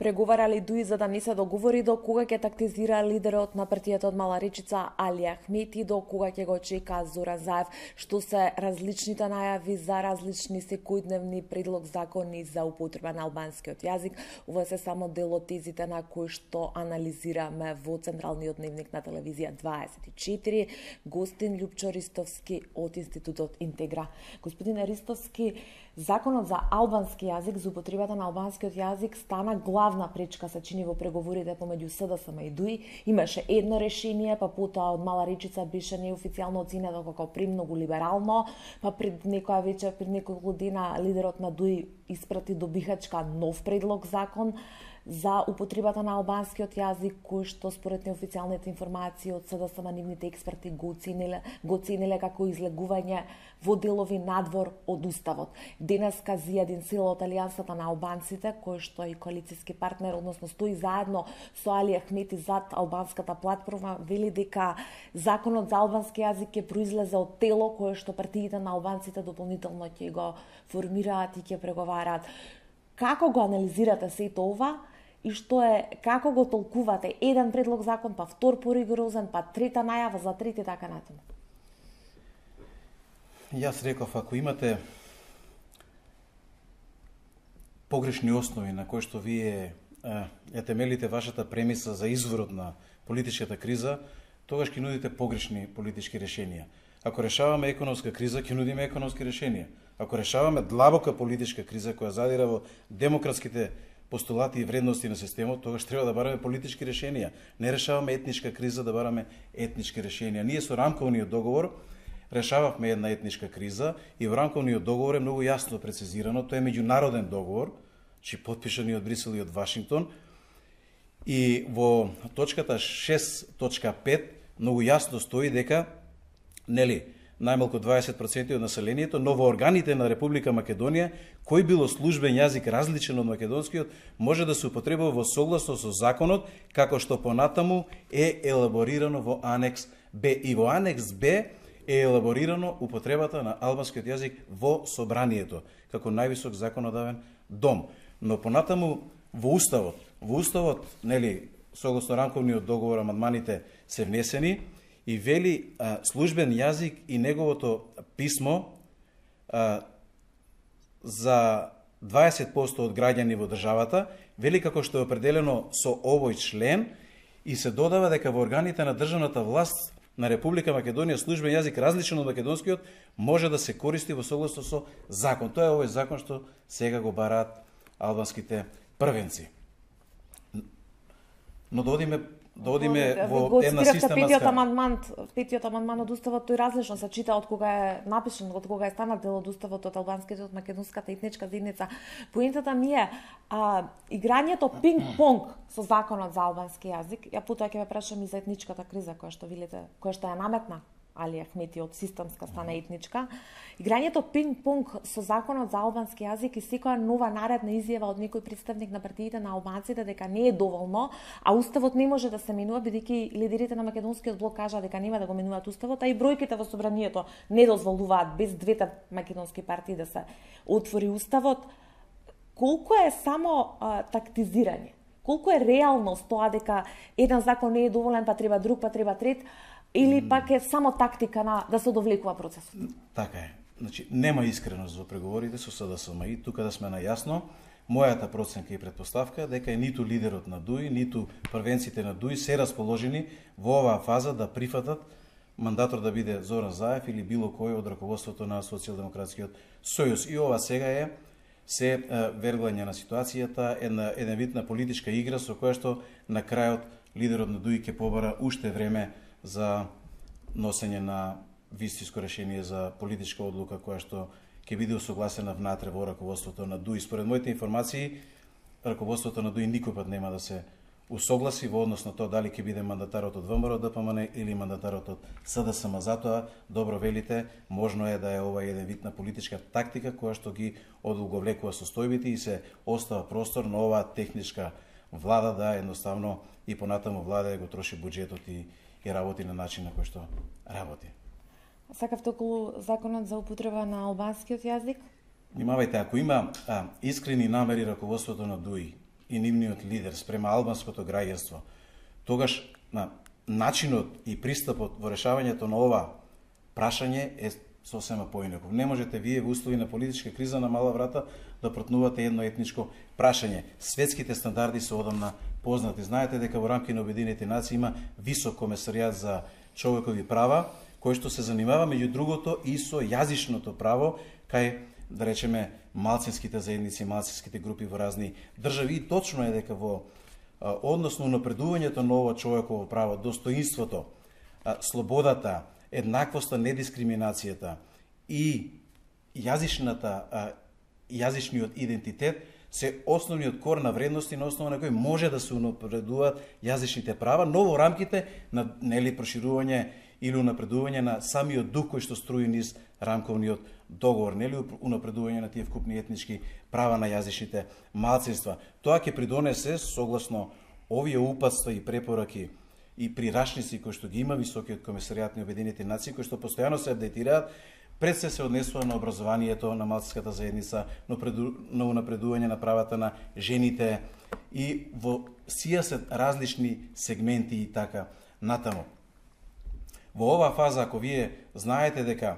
преговарале Дуи за да не се договори до кога ќе тактизира лидерот на партијата од Мала Речица Али Ахмети, до кога ќе го чека Зоран Заев, што се различните најави за различни секојдневни предлог закони за употреба на албанскиот јазик. Ова се само дел од тезите на кои што анализираме во Централниот дневник на телевизија 24. Гостин Љупчо Ристовски од Институтот Интегра. Господин Ристовски, законот за албански јазик, за употребата на албанскиот јазик стана главна пречка, се чини, во преговорите помеѓу СДСМ и ДУИ. Имаше едно решение, па потоа од Мала Речица беше неофицијално оценето како премногу либерално, па пред некоја вечер, пред неколку дена, лидерот на ДУИ испрати до Бихачка нов предлог закон за употребата на албанскиот јазик, кој што според неофицијалните информации од СДСМ нивните експерти го оцениле како излегување во делови надвор од уставот. Денеска Зијадин Сила од Алијансата на албанците, кој што е и коалициски партнер, односно стои заедно со Али Ахмети зад албанската платформа, вели дека законот за албански јазик ќе произлезе од тело кое што партиите на албанците дополнително ќе го формираат и ќе преговараат. Како го анализирате сето ова? И што е, како го толкувате? Еден предлог закон, па втор поригорозен, па трета најава за трети, така натаму. Јас реков, ако имате погрешни основи на кои што вие ја темелите вашата премиса за изворот на политичката криза, тогаш ќе нудите погрешни политички решенија. Ако решаваме економска криза, ќе нудиме економски решенија. Ако решаваме длабока политичка криза која задира во демократските постулати и вредности на системот, тогаш треба да бараме политички решенија. Не решаваме етничка криза, да бараме етнички решенија. Ние со рамковниот договор решававме една етничка криза и во рамковниот договор е многу јасно прецизирано, тој е меѓународен договор, чи подпишан и од Брисел и од Вашингтон. И во точката 6.5 многу јасно стои дека најмалку 20% од населението, но во органите на Република Македонија, кој било службен јазик различен од македонскиот, може да се употребува во согласно со законот, како што понатаму е елаборирано во Анекс Б. И во Анекс Б е елаборирано употребата на албанскиот јазик во собранието, како највисок законодавен дом. Но понатаму во Уставот, согласно рамковниот договор, амандманите се внесени, и вели службен јазик и неговото писмо за 20% од граѓани во државата, вели како што е определено со овој член, и се додава дека во органите на државната власт на Република Македонија службен јазик различен од македонскиот може да се користи во согласно со закон. Тоа е овој закон што сега го бараат албанските првенци. Но да одиме во една систематска... Петиот амандман од Уставот, тој различно се чита од кога е напишан, од кога е станат дел од Уставот од албанските, од македонската етничка заедница. Поентата ми е играњето пинг-понг со законот за албански јазик. Ја потоа ќе ве прашам и за етничката криза која што видите, која што ја наметна Али Ахмети од системска стана етничка. Играњето пинг-понг со законот за албански јазик и секоја нова наредна изјава од некој представник на партиите на албанците дека не е доволно, а Уставот не може да се менува, бидејќи лидерите на македонскиот блок кажаа дека нема да го менуваат Уставот, а и бројките во собранието не дозволуваат без двете македонски партии да се отвори Уставот. Колку е само тактизирање? Колку е реалност тоа дека еден закон не е доволен, па треба друг, па треба трет, или пак е само тактика да се довлекува процесот? Така е. Значи, нема искреност во преговорите со СДСМ и тука да сме најасно. Мојата проценка и предпоставка дека ниту лидерот на ДУИ, ниту првенците на ДУИ се расположени во оваа фаза да прифатат мандатор да биде Зоран Заев или било кој од раководството на Социјалдемократскиот сојуз. И ова сега е се верглање на ситуацијата, еден вид на политичка игра со која што на крајот лидерот на ДУИ ќе побара уште време за носење на вистинско решение за политичка одлука која што ќе биде усогласена внатре во раководството на ДУИ. Според моите информации, раководството на ДУИ никој пат нема да се усогласи во однос на тоа дали ќе биде мандатарот од ВМРО ДПМН или мандатарот од СДСМ. Затоа, добро велите, можно е да е ова еден вид на политичка тактика која што ги одолговлекува состојбите и се остава простор на оваа техничка влада да едноставно и понатаму влада да го троши буџетот и работи на начин на кој што работи. Сакавте околу законот за употреба на албанскиот јазик? Внимавајте, ако има искрени намери раководството на ДУИ и нивниот лидер спрема албанското граѓанство, тогаш на начинот и пристапот во решавањето на ова прашање е сосема поинаков. Не можете вие во услови на политичка криза на мала врата да протнувате едно етничко прашање. Светските стандарди се одамна познати. Знаете дека во рамки на Обединетите нации има висок комесаријат за човекови права, кој што се занимава меѓу другото и со јазичното право кај, да речеме, малцинските заедници, малцинските групи во разни држави. И точно е дека во односно напредувањето на ова човеково право, достоинството, слободата, еднаквоста, недискриминацијата и јазичниот идентитет се основниот кор на вредности на основа на кој може да се унапредуваат јазичните права, но во рамките на проширување или унапредување на самиот дух кој што струи низ рамковниот договор, унапредување на тие вкупни етнички права на јазичните малцинства. Тоа ќе придонесе, согласно овие упатства и препораки и прирашници кои што ги има Високиот комесаријат на Обединетите нации, кои што постојано се апдейтираат, пред се однесува на образованието на малцинската заедница, на унапредување на правата на жените и во сија се различни сегменти и така натаму. Во оваа фаза, ако вие знаете дека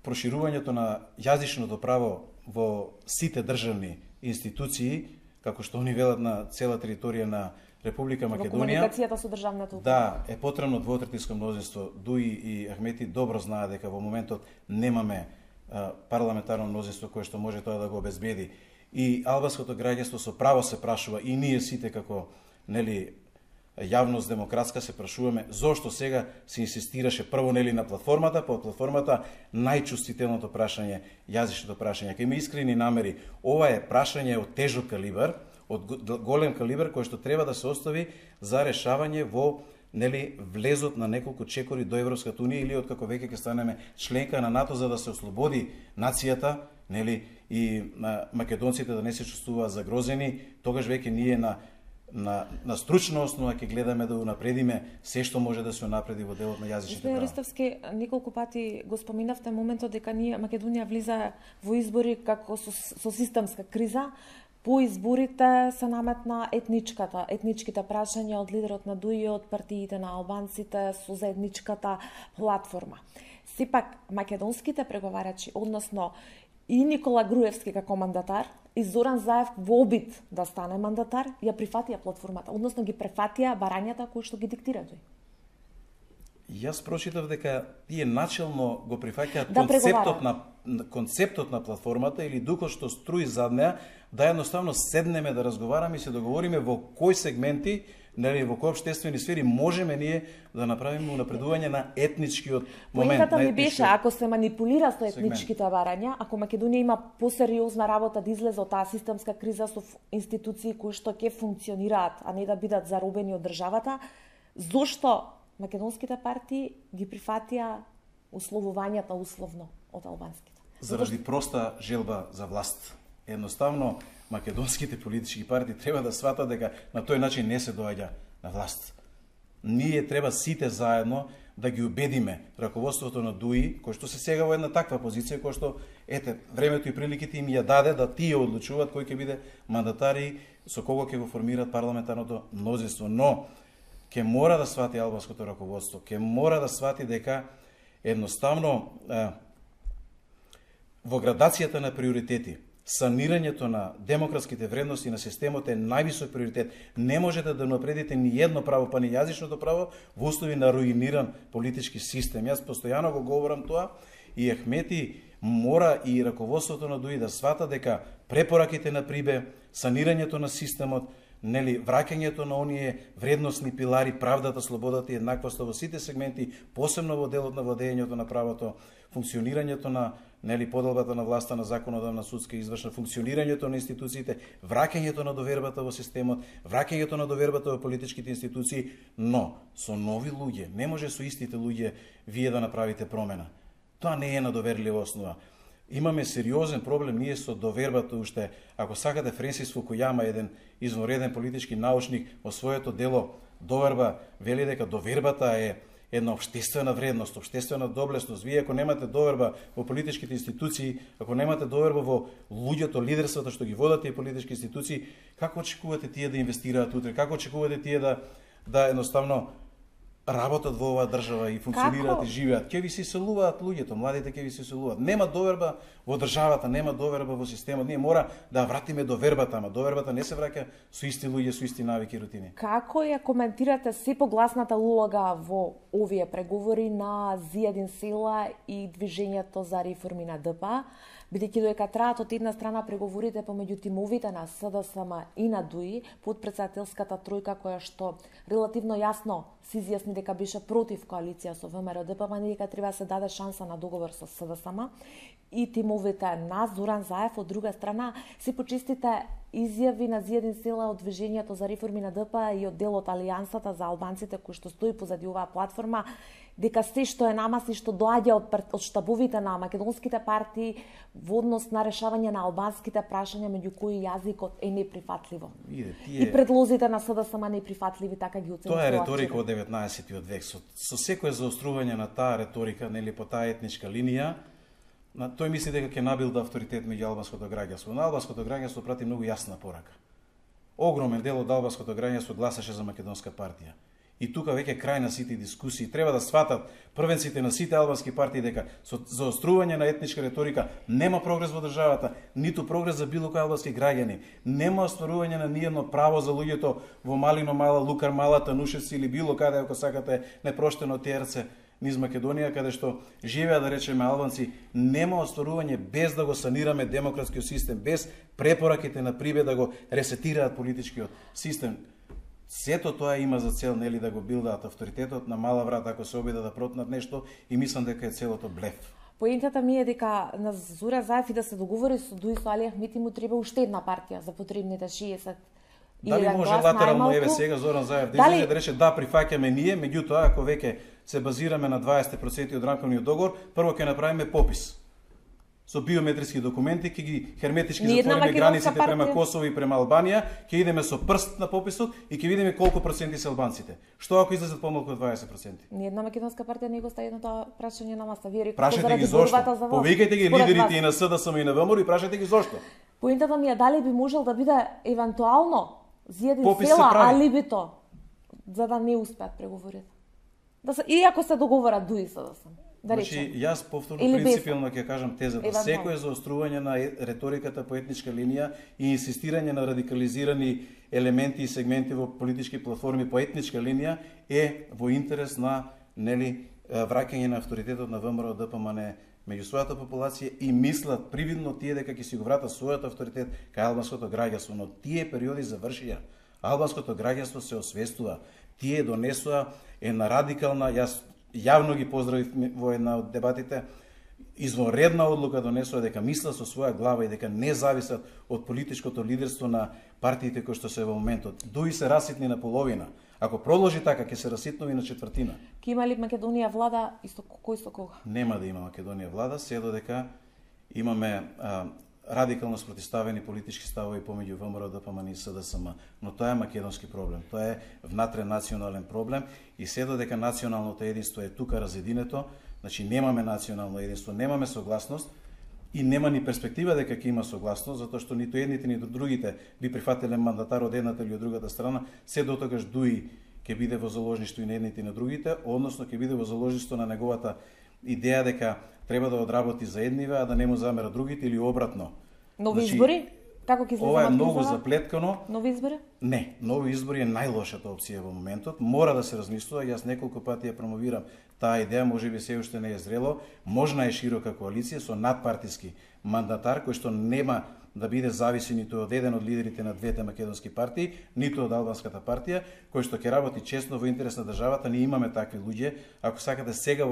проширувањето на јазичното право во сите државни институции, како што они велат на цела територија на Република Македонија, во комуникацијата со државната управа, да, е потребно двотретинско мнозинство. Дуи и Ахмети добро знаат дека во моментот немаме парламентарно мнозинство кое што може тоа да го обезбеди. И албанското граѓанство со право се прашува, и ние сите како јавност демократска се прашуваме зошто сега се инсистираше прво на платформата, по платформата најчувствителното прашање, јазичното прашање. Кај има искрени намери, ова е прашање од тежок калибар, од голем калибар кој што треба да се остави за решавање во влезот на неколку чекори до Европската унија или откако веќе ќе станеме членка на НАТО, за да се ослободи нацијата, и македонците да не се чувствуваат загрозени. Тогаш веќе ние на стручна основа ќе гледаме да унапредиме се што може да се унапреди во делот на јазичните права. Ристовски, неколку пати го споминавте моментот дека Македонија влиза во избори како со системска криза. По изборите се наметна етничките прашања од лидерот на ДУИ, од партиите на албанците со заедничката платформа. Сепак, македонските преговарачи, односно и Никола Груевски како мандатар, и Зоран Заев во обид да стане мандатар, ја прифатија платформата, односно ги префатија барањата кои што ги диктира тој. Јас прочитав дека тие начелно го прифаќаат концептот на платформата или духот што струи зад неа, да едноставно седнеме да разговараме и се договориме во кои сегменти, во кои општествени сфери можеме ние да направиме унапредување на етничкиот момент. Поентата ми беше, ако се манипулира со етничките барања, ако Македонија има посериозна работа да излезе од таа системска криза со институции кои што ќе функционираат, а не да бидат заробени од државата, зошто македонските партии ги прифатија условувањата условно од албанските? Заради проста желба за власт. Едноставно, македонските политички партии треба да сватат дека на тој начин не се доаѓа на власт. Ние треба сите заедно да ги убедиме раководството на ДУИ, кој што се сега во една таква позиција, кој што, времето и приликите им ја даде да тие одлучуваат кој ќе биде мандатар и со кого ќе го формираат парламентарното мнозинство. Но, ќе мора да свати албанското раководство, ќе мора да свати дека едноставно во градацијата на приоритети, санирањето на демократските вредности на системот е највисок приоритет. Не можете да напредите ни едно право, па ни јазичното право во услови на руиниран политички систем. Јас постојано го говорам тоа и Ахмети мора и раководството на ДУИ да свата дека препораките на Прибе, санирањето на системот, враќањето на оние вредностни пилари, правдата, слободата и еднаквоста во сите сегменти, посебно во делот на владењето на правото, функционирањето на поделбата на власта на законодавна, судска и извршна, функционирањето на институциите, враќањето на довербата во системот, враќањето на довербата во политичките институции, но со нови луѓе, не може со истите луѓе вие да направите промена. Тоа не е на доверлива основа. Имаме сериозен проблем ние со довербата уште. Ако сакате, Френсис Фукујама, еден извонреден политички научник, во своето дело Доверба вели дека довербата е една општествена вредност, општествена доблесност. Вие ако немате доверба во политичките институции, ако немате доверба во луѓето, лидерството што ги водат тие политички институции, како очекувате тие да инвестираат утре? Како очекувате тие да едноставно работат во оваа држава и функционираат и живеат? Ќе ви се иселуваат луѓето, младите ќе ви се иселуваат. Нема доверба во државата, нема доверба во системот. Ние мора да вратиме довербата, ама довербата не се враќа со исти луѓе, со исти навики и рутини. Како ја коментирате се погласната улога во овие преговори на Зијадин Села и движењето за реформи на ДП, бидејќи додека траат од една страна преговорите помеѓу тимовите на СДСМ и на ДУИ, подпредседателската тројка која што релативно јасно се изјасни дека беше против коалиција со ВМРО ДПМН, дека треба да се даде шанса на договор со СДСМ, и тимовите на Зоран Заев од друга страна се почистите изјави на Зијадин Села од движењето за реформи на ДП и од дел од Алијансата за албанците кој што стои позади оваа платформа, дека се што е нама, се што доаѓа од штабовите на македонските партии во однос на решавање на албанските прашања, меѓу кои јазикот е неприфатливо. И предлозите на СДСМ неприфатливи, така ги оценува. Тоа е риторика од 19 век. Со секое заострување на таа риторика, нели, по таа етничка линија, тој мисли дека ќе набилда авторитет меѓу албанското граѓанство. На албанското граѓанство прати многу јасна порака. Огромен дел од албанското граѓанство гласаше за Македонска партија. И тука веќе крај на сите дискусии. Треба да сватат првенците на сите албански партии дека со заострување на етничка риторика нема прогрес во државата, ниту прогрес за било кој албански граѓани, нема остварување на ниедно право за луѓето во Малино Мала, Лукар Мала, Танушевци или било каде, ако сакате, непроштено Терце низ Македонија, каде што живеа, да речеме, албанци, нема остварување без да го санираме демократскиот систем, без препораките на Прибе да го ресетираат политичкиот систем. Сето тоа има за цел, нели, да го билдаат авторитетот на мала врата ако се обидат да протнат нешто, и мислам дека е целото блеф. Поентата ми е дека на Зоран Заев и да се договори со ДУИ со Али Ахмети му треба уште една партија за потребните 60. Дали може латерално, еве сега Зоран Заев да излезе да рече да прифаќаме ние, меѓутоа ако веќе се базираме на 20% од рамковниот договор, прво ќе направиме попис со биометриски документи, ќе ги херметички затвориме границите према Косово и према Албанија, ќе идеме со прст на пописот и ќе видиме колку проценти се албанците. Што ако излезат помалку од 20%? Ниедна македонска партија не го стави на тоа прашање на маса. Вие прашајте ги зошто. Повикајте ги лидерите и на СДСМ и на ВМРО и прашајте ги зошто. Поентата ми е дали би можел да биде евентуално Зијадин Села алибито за да не успеат преговорите. Иако се договорат ДУИ СДСМ. Значи, јас повторно принципиално ќе кажам тезата. Секој заострување на риториката по етничка линија и инсистирање на радикализирани елементи и сегменти во политички платформи по етничка линија е во интерес на, нели, враќање на авторитетот на ВМРО ДПМН меѓу својата популација и мислат привидно тие дека ќе си го вратат својот авторитет кај албанското граѓанство, но тие периоди завршија. Албанското граѓанство се освестува. Тие донесоа една радикална, јас јавно ги поздравив во една од дебатите, извонредна одлука донесува дека мислат со своја глава и дека не зависат од политичкото лидерство на партиите кои што се во моментот. ДУИ се раситни на половина. Ако продолжи така, ќе се раситнови на четвртина. Ке има ли Македонија влада кој со кога? Нема да има Македонија влада, се додека имаме радикално спротивставени политички ставови помеѓу ВМРО ДПМН и СДСМ, но тоа е македонски проблем. Тоа е внатре национален проблем и се додека националното единство е тука разединето, значи немаме национално единство, немаме согласност и нема ни перспектива дека ќе има согласност, затоа што ниту едните ниту другите би прифатиле мандатар од едната или од другата страна, се дотогаш ДУИ ќе биде во заложништво и на едните и на другите, односно ќе биде во заложништво на неговата идеја дека треба да одработи за едниве, а да не му замера другите или обратно. Нови избори? Како ќе се ова е многу заплеткано. Нови избори? Не, нови избори е најлошата опција во моментот. Мора да се размислува, јас неколку пати ја промовирам таа идеја, можеби се уште не е зрело. Можна е широка коалиција со надпартиски мандатар кој што нема да биде зависи ниту од еден од лидерите на двете македонски партии, ниту од албанската партија, кој што ќе работи честно во интерес на државата. Ние имаме такви луѓе. Ако сакате сега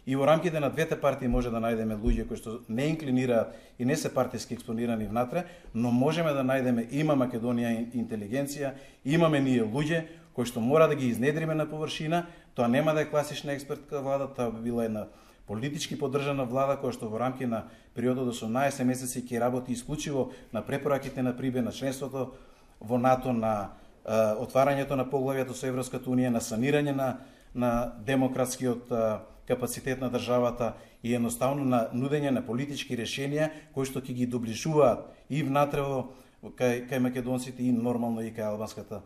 и во рамките на двете партии може да најдеме луѓе кои што не инклинираат и не се партиски експонирани внатре, но можеме да најдеме, има Македонија интелигенција, имаме ние луѓе кои што мора да ги изнедриме на површина. Тоа нема да е класична експертка влада, тоа би била една политички поддржана влада која што во рамки на периодот од 18 месеци ќе работи исклучиво на препораките на Прибе, на членството во НАТО, на отварањето на поглавјето со Европската унија, на санирање на на демократскиот капацитет на државата и едноставно на нудење на политички решенија кои што ќе ги доближуваат и внатре кај македонците и нормално и кај албанската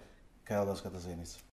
заедница.